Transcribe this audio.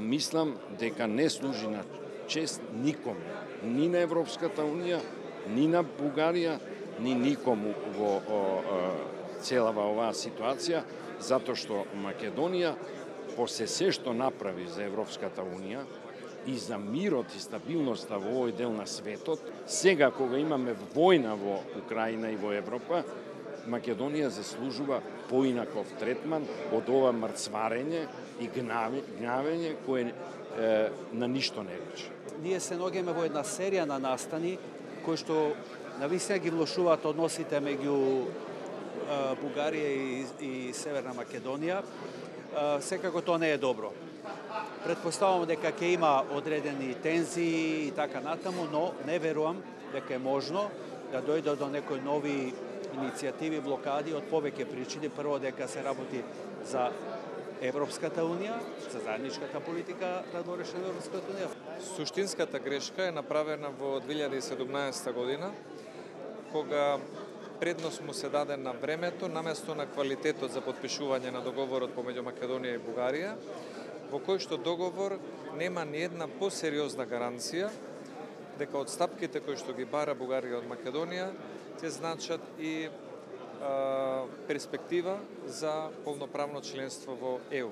мислам дека не служи на чест никоме, ни на Европската Унија, ни на Бугарија, ни никому во целава оваа ситуација, затоа што Македонија, после се што направи за Европската Унија и за мирот и стабилноста во овој дел на светот, сега кога имаме војна во Украина и во Европа, Македонија заслужува поинаков третман од ова мрцварење и гнавење кое на ништо не личи. Ние се наоѓаме во една серија на настани кои што навистина ги влошуваат односите меѓу Бугарија и Северна Македонија. Секако тоа не е добро. Предпоставувам дека ќе има одредени тензии и така натаму, но не верувам дека е можно да дојде до некои нови иницијативи, блокади од повеќе причини. Прво дека се работи за Европската Унија, за заедничката политика надворешна на Европската Унија. Суштинската грешка е направена во 2017 година, кога предност му се даде на времето, наместо на квалитетот за подпишување на договорот помеѓу Македонија и Бугарија, во кој што договор нема ни една посериозна гаранција дека одстапките кои што ги бара Бугарија од Македонија ќе значат и перспектива за полноправно членство во ЕУ.